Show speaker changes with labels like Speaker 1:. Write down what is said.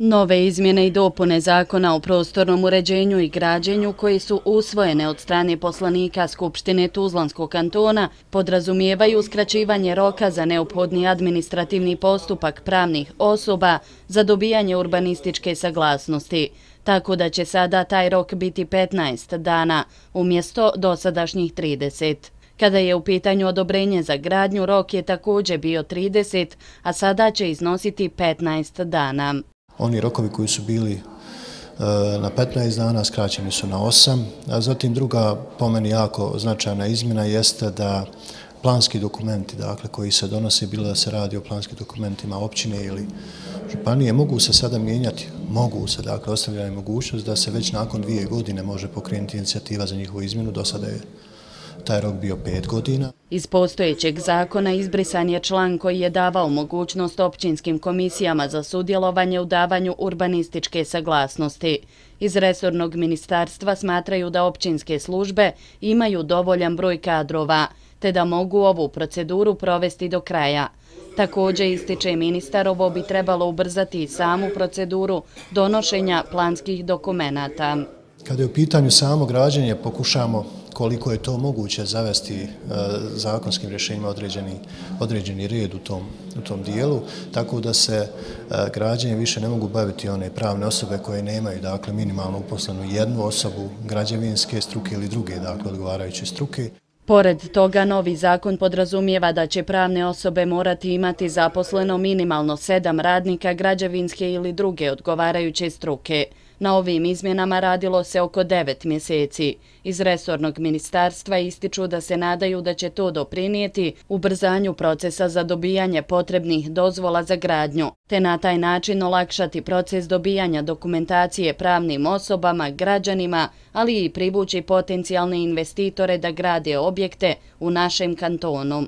Speaker 1: Nove izmjene i dopune Zakona o prostornom uređenju i građenju koji su usvojene od strane poslanika Skupštine Tuzlanskog kantona podrazumijevaju skraćivanje roka za neophodni administrativni postupak pravnih osoba za dobijanje urbanističke saglasnosti, tako da će sada taj rok biti 15 dana umjesto dosadašnjih 30. Kada je u pitanju odobrenje za gradnju, rok je također bio 30, a sada će iznositi 15 dana.
Speaker 2: Oni rokovi koji su bili na 15 dana skraćeni su na 8, a zatim druga po meni jako značajna izmjena jeste da planski dokumenti, dakle, koji se donose, bilo da se radi o planskim dokumentima općine ili županije, mogu se sada mijenjati, dakle, ostavljena je mogućnost da se već nakon 2 godine može pokrenuti inicijativa za njihovu izmjenu, do sada je taj rok bio 5 godina.
Speaker 1: Iz postojećeg zakona izbrisan je član koji je davao mogućnost općinskim komisijama za sudjelovanje u davanju urbanističke saglasnosti. Iz resornog ministarstva smatraju da općinske službe imaju dovoljan broj kadrova, te da mogu ovu proceduru provesti do kraja. Također, ističe ministar, ovo bi trebalo ubrzati samu proceduru donošenja planskih dokumenata.
Speaker 2: Kada je u pitanju samo građenje, pokušamo koliko je to moguće zavesti zakonskim rješenjima određeni red u tom dijelu, tako da se građenje više ne mogu baviti one pravne osobe koje nemaju, dakle, minimalno uposlenu jednu osobu građevinske struke ili druge, dakle, odgovarajuće struke.
Speaker 1: Pored toga, novi zakon podrazumijeva da će pravne osobe morati imati zaposleno minimalno 7 radnika građevinske ili druge odgovarajuće struke. Na ovim izmjenama radilo se oko 9 mjeseci. Iz resornog ministarstva ističu da se nadaju da će to doprinijeti ubrzanju procesa za dobijanje potrebnih dozvola za gradnju, te na taj način olakšati proces dobijanja dokumentacije pravnim osobama, građanima, ali i privući potencijalne investitore da grade objekte u našem kantonu.